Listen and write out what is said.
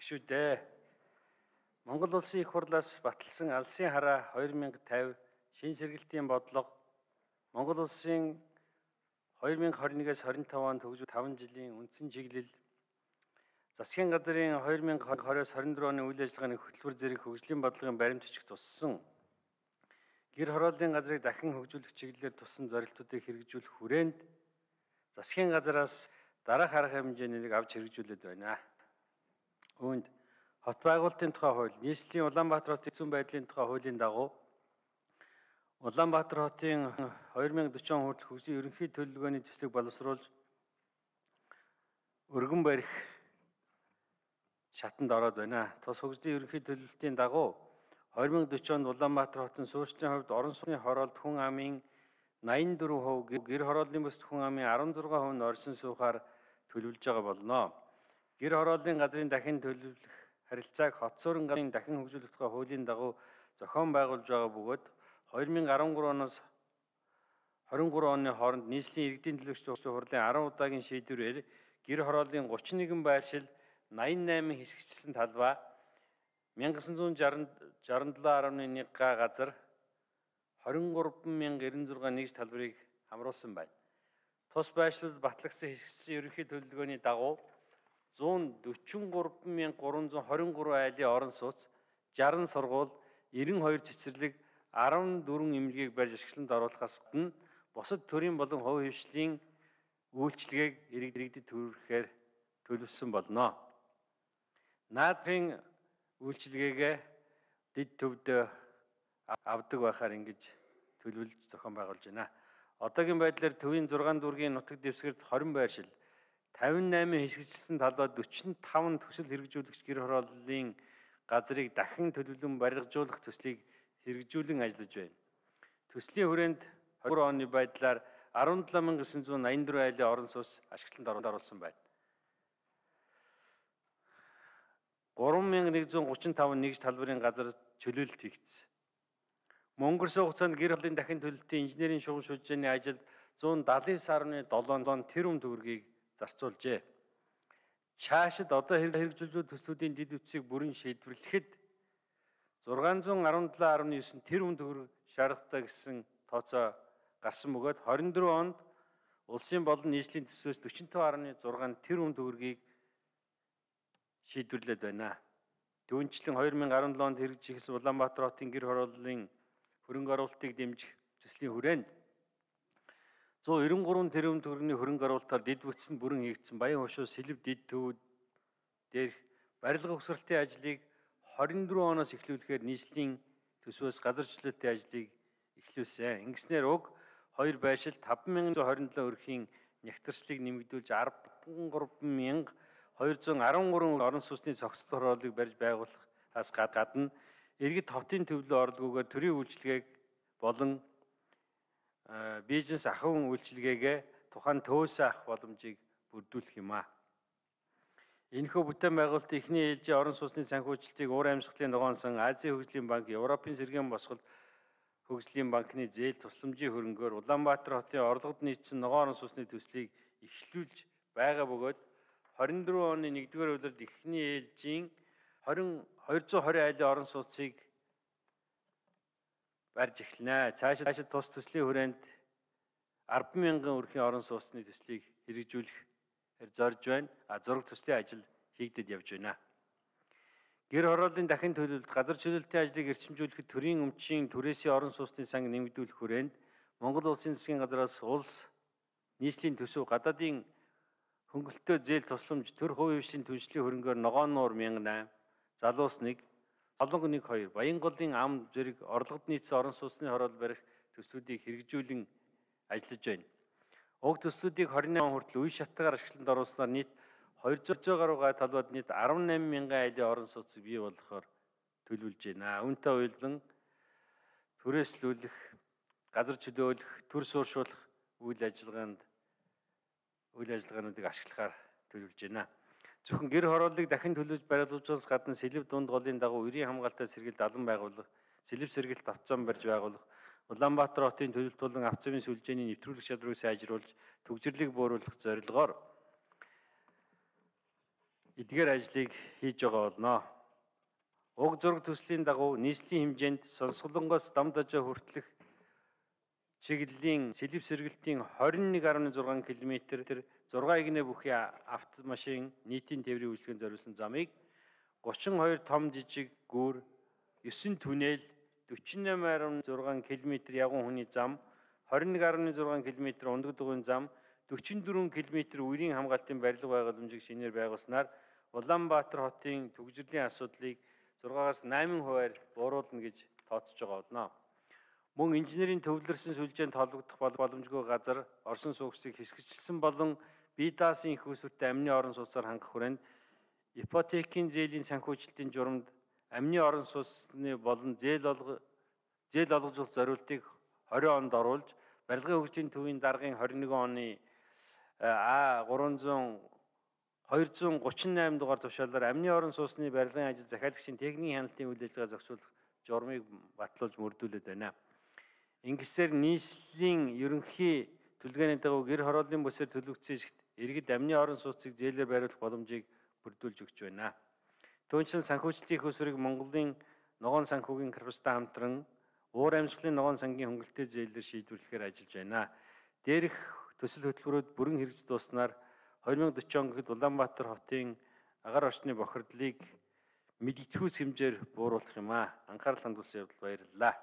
шүү дээ. Монгол улсын их хурлаас баталсан алсын хараа 2050 шин сэргэлтийн бодлого Монгол улсын 2021-с 25 онд төгсөх 5 жилийн үндсэн чиглэл засгийн газрын 2020-с 24 оны үйл ажиллагааны хөтөлбөр зэрэг хөгжлийн бодлогын баримт бичиг туссан гэр хорооллын газрыг дахин хөгжүүлэх чиглэлээр туссан зорилтуудыг хэрэгжүүлэх хүрээнд засгийн газраас дараах арга хэмжээнийг авч хэрэгжүүлээд байна. Үүнд хот байгуулалтын тухай хууль, нийслэлийн Улаанбаатар хотын зүүн байдлын тухай хуулийн дагуу Улаанбаатар хотын 2040 он хүртэл хөгжлийн ерөнхий төлөвлөгөөний төслийг боловсруулж өргөн барих шатанд ороод байна. Тус хөгжлийн ерөнхий төлөвлөлтийн дагуу 2040 онд Улаанбаатар хотын суурьчдын хувьд орон сууцны хороолт хүн амын 84%, гэр хорооллын бүс хүн амын 16% нь оршин суухаар төлөвлөж байгаа болно. Гэр хорооллын газрын дахин төлөвлөх харилцааг хот суурин газрын дахин хөгжүүлэх тухай хуулийн дагуу зохион байгуулж байгаа бөгөөд 2013 оноос 23 оны хооронд нийслэлийн иргэдийн төлөөлөгчдийн хурлын 10 удаагийн шийдвэрээр гэр хорооллын 31 байршил 88 хэсэгчилсэн талбай 1967.1 га газар 23,096 нэгж талбарыг хамруулсан байна. Тус байршлууд батлагдсан хэсэгчсэн ерөнхий төлөвлөгөөний дагуу 143,323 айлын орон сууц, 60 сургууль, 92 цэцэрлэг, 14 эмнэлгийг барьж ашиглалтанд оруулахаас гадна бусад төрийн болон хувь хвшлийн үйлчилгээг иргэдэд төрөхээр төлөвлөсөн болно. Наадмын үйлчилгээгээ дэд төвд авдаг байхаар ингэж төлөвлөж зохион байгуулж байна. Одоогийн байдлаар төвийн 6 дүүргийн нутаг дэвсгэрт 20 байршил, 58 хэсэгчилсэн талбай 45 төсөл хэрэгжүүлэгч гэр хорооллын газрыг дахин төлөвлөн барилгажуулах төслийг хэрэгжүүлэн ажиллаж байна. Төслийн хүрээнд 20 оны байдлаар 17,984 айлын орон сууц ашиглалтанд оруулсан байна. 3,135 нэгж талбарын газар чөлөөлөлт хийгдсэн. Өнгөрсөн хугацаанд гэр хорооллын дахин төлөвлөлтийн инженерийн шугам шүлжээний ажилд 179.7 тэрбум төгрөгийг зарцуулжээ. Цаашид одоо хэрэгжүүлж төслүүдийн дэд үтсийг бүрэн шийдвэрлэхэд 617.9 тэрбум төгрөг шаардлагатай гэсэн тооцоо гарсан бөгөөд 24 онд улсын болон нийслэлийн төслөөс 45.6 тэрбум төгрөгийг шийдвэрлээд байна. Түүнчлэн 2017 онд хэрэгжүүлсэн Улаанбаатар хотын гэр хорооллын хөрөнгө оруулалтыг дэмжих төслийн хүрээнд 193 тэрбум төгрөгийн хөрөнгө оруулалтаар дэд бүтц нь бүрэн хийгдсэн Баян хошуу Сэлэв дэд төвүүд дээрх барилга угсралтын ажлыг 24 оноос эхлүүлэхээр нийслэлийн төсвөөс газар чөлөөтийн ажлыг эхлүүлсэн. Ингэснээр уг 2 байршил 5,127 өрхийн нягтрчлыг нэмэгдүүлж 13,213 орон сууцны цогцлол хорооллыг барьж байгуулахаас гадна иргэд хотын төвлөрөө орлогоор төрийн үйлчилгээг болон бизнес ахуйн үйлчилгээгээ тухайн төвөөс авах боломжийг бүрдүүлэх юм а. Энэхүү бүтээн байгуулалтын эхний ээлжийн орон сууцны санхүүжилтийг уур амьсгалын ногоонсон Азийн хөгжлийн банк, Европын сэргээн босгол хөгжлийн банкны зээл тусламжийн хөрөнгөөр Улаанбаатар хотын орлогод нийцсэн ногоон орон сууцны төслийг эхлүүлж байгаа бөгөөд 24 оны 1-р улиралд эхний ээлжийн 220 айлын орон сууцыг барьж эхэлнэ. Цаашид тус төслийн хүрээнд 10,000 өрхийн орон сууцны төслийг хэрэгжүүлэх зорж байна. Зураг төслийн ажил хийгдэд явж байна. Гэр хорооллын дахин төлөвлөлт, газар чөлөөлтийн ажлыг эрчимжүүлэхэд төрийн өмчийн түрээсийн орон сууцны сан нэмэгдүүлэх хүрээнд Монгол улсын засгийн газраас улс нийслэлийн төсөв, гадаадын хөнгөлөлтөө зээл тусламж, төр хувийн хвшлийн түншлэлийн хөрөнгөөр ногоон нуур 1008, залуус 1, солонго 1-2, Баянголын ам зэрэг орлогод нийцсэн орон сууцны хороол барих төслүүдийг хэрэгжүүлэн ажиллаж байна. Уг төслүүдийг 28 он хүртэл үе шаттайгаар ашиглалтанд оруулснаар нийт 200 гаруй га талбайд нийт 18,000 айлын орон сууцыг бий болгохоор төлөвлөж байна. Үүнтэй уялдан түрээслүүлэх, газар чөлөөлөх, төр суурьшуулах үйл ажиллагаануудыг ашиглахаар төлөвлөж байна. Зөвхөн гэр хорооллыг дахин төлөвлөж барилгажуулахаас гадна Сэлэв дунд голын дагуу үрийн хамгаалалттай сэргэлт алан байгуулах, Сэлэв сэргэлт автозон барьж байгуулах, Улаанбаатар хотын төлөвлөлт болон автозын сүлжээний нэвтрүүлэх чадварыг сайжруулж, түгжирлийг бууруулах зорилгоор эдгээр ажлыг хийж байгаа болно. Уг зураг төслийн дагуу нийслэлийн хэмжээнд Сонсголонгоос Дамдажаа хүртэлх чиглэлийн сэлэв сэргэлтийн 21.6 км 6 игнэ бүхий автомашин нийтийн тээврийн үйлчлэгэнд зориулсан замыг 32 том жижиг гүүр, 9 түнэл, 48.6 км явган хүний зам, 21.6 км ундаг дугуйн зам, 44 км үерийн хамгаалтын барилга байгууламжийг шинээр байгуулснаар Улаанбаатар хотын төгжрлийн асуудлыг 6-аас 8% бууруулна гэж тооцож байгаа болно. Мөн инженерийн төвлөрсөн сүлжээнд холбогдох боломжгүй газар, орсон суугчдыг хэсэгчлсэн болон бие даасан их усүртэй амны орон сууцаар хангах хүрээнд ипотекийн зээлийн санхүүжилтийн журамд амны орон сууцны болон зээл олгожуулах зориултыг 20 онд оруулж, барилгын хөгжлийн төвийн даргын 21 оны А238 дугаар тушаалаар амны орон сууцны барилгын ажил захиалагчийн техникийн хяналтын үйл ажиллагаа зохицуулах журмыг батлуулж мөрдүүлээд байна. Ингэсээр нийслэлийн ерөнхий төлөвлөгөөний дагуу гэр хорооллын бүсээр төлөгдсөн эсэгт иргэд амны орон сууцыг зээлээр бариулах боломжийг бүрдүүлж өгч байна. Түүнчлэн санхүүжилтийн их усрыг Монголын ногоон санхүүгийн корпустай хамтран уур амьсгалын ногоон сангийн хөнгөлөлтөө зээлээр шийдвэрлэхээр ажиллаж байна. Дээрх төсөл хөтөлбөрүүд бүрэн хэрэгж дууснаар 2040 он гэхэд Улаанбаатар хотын агаар орчны бохирдлыг мэдэгдэхүйц хэмжээр бууруулах юм аа. Анхаарал хандуулсан явдал баярлалаа.